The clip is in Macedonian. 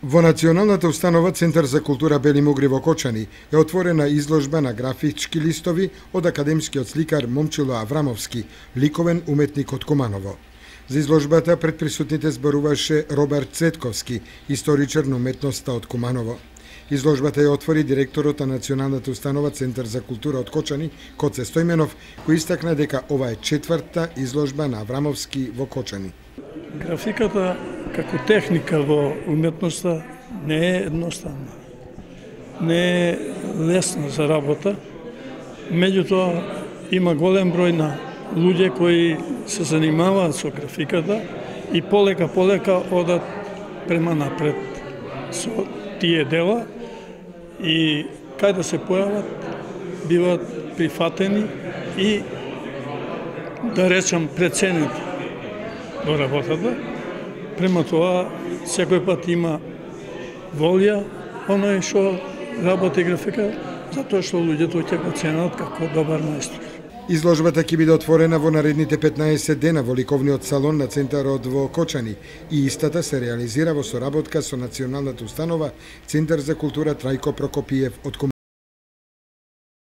Во Националната установа Центар за култура Бели Мугри во Кочани е отворена изложба на графички листови од академскиот сликар Момчило Аврамовски, ликовен уметник од Куманово. За изложбата пред присутните зборуваше Роберт Цветковски, историчар на уметноста од Куманово. Изложбата ја отвори директорот на Националната установа Центар за култура од Кочани, Коце Стојменов, кој истакна дека ова е четврта изложба на Аврамовски во Кочани. Графиката како техника во уметноста не е едноставна. Не е лесна за работа. Меѓутоа има голем број на луѓе кои се занимаваат со графиката и полека одат према напред со тие дела и кај да се појават биваат прифатени и да речам преценети во работата. Према тоа, секој пат има волја, оној што работи графика, затоа што луѓето ќе го ценат како добар мајстор. Изложбата ќе биде отворена во наредните 15 дена во ликовниот салон на Центарот во Кочани и истата се реализира во соработка со Националната установа Центар за култура Трајко Прокопиев од